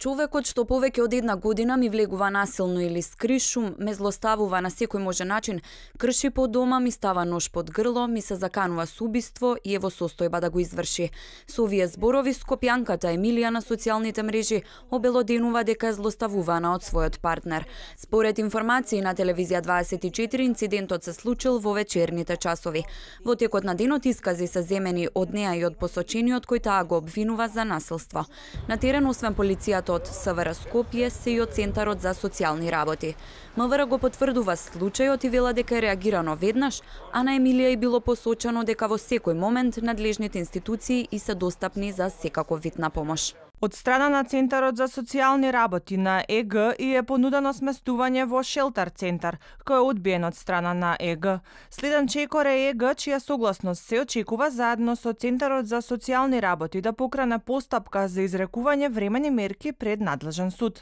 Човекот што повеќе од една година ми влегува насилно или скришум, ме злоставува на секој може начин, крши по дома, ми става нож под грло, ми се заканува со убиство и е во состојба да го изврши. Со овие зборови скопјанката Емилија на социјалните мрежи обелоденува дека е злоставувана од својот партнер. Според информации на телевизија 24, инцидентот се случил во вечерните часови. Во текот на денот искази се земени од неа и од посочениот кој таа го обвинува за насилство. На терен освен полицијата од СВР Скопје се и од Центарот за социјални работи. МВР го потврдува случајот и вела дека е реагирано веднаш, а на Емилија и било посочено дека во секој момент надлежните институции и се достапни за секаков вид на помош. Од страна на Центарот за социјални работи на ЕГ и е понудено сместување во шелтер центар, кој е одбиен од страна на ЕГ. Следен чекор е ЕГ, чија согласност се очекува заедно со Центарот за социјални работи да покране постапка за изрекување времени мерки пред надлежен суд.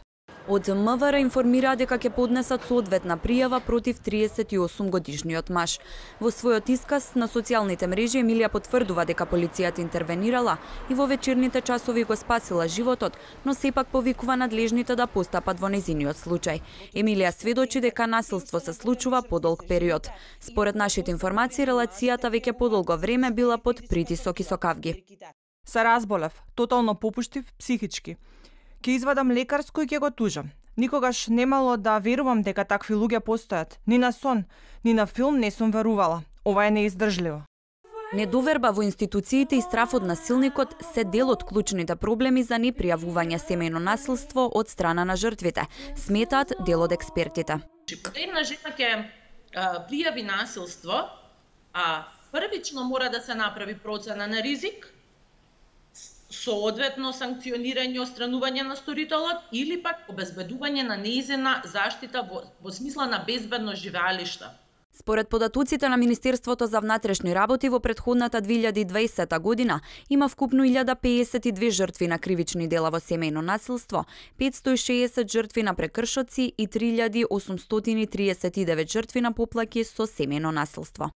Од МВР информира дека ќе поднесат соодветна пријава против 38-годишниот маж. Во својот исказ на социјалните мрежи Емилија потврдува дека полицијата интервенирала и во вечерните часови го спасила животот, но сепак повикува надлежните да постапат во нејзиниот случај. Емилија сведочи дека насилство се случува подолг период. Според нашите информации, релацијата веќе подолго време била под притисок и сокавги. Се разболев, тотално попуштив психички. Ќе извадам лекарско и ќе го тужам. Никогаш немало да верувам дека такви луѓе постојат. Ни на сон, ни на филм не сум верувала. Ова е неиздржливо. Недоверба во институциите и страф од насилникот се дел од клучните проблеми за непријавување семејно насилство од страна на жртвите, сметаат дел од експертите. Една жена ќе пријави насилство, а првично мора да се направи процена на ризик, соодветно санкционирање и отстранување на сторителот или пак обезбедување на нејзина заштита во смисла на безбедно живеалиште. Според податоците на Министерството за внатрешни работи во претходната 2020 година има вкупно 1052 жртви на кривични дела во семејно насилство, 560 жртви на прекршоци и 3839 жртви на поплаки со семејно насилство.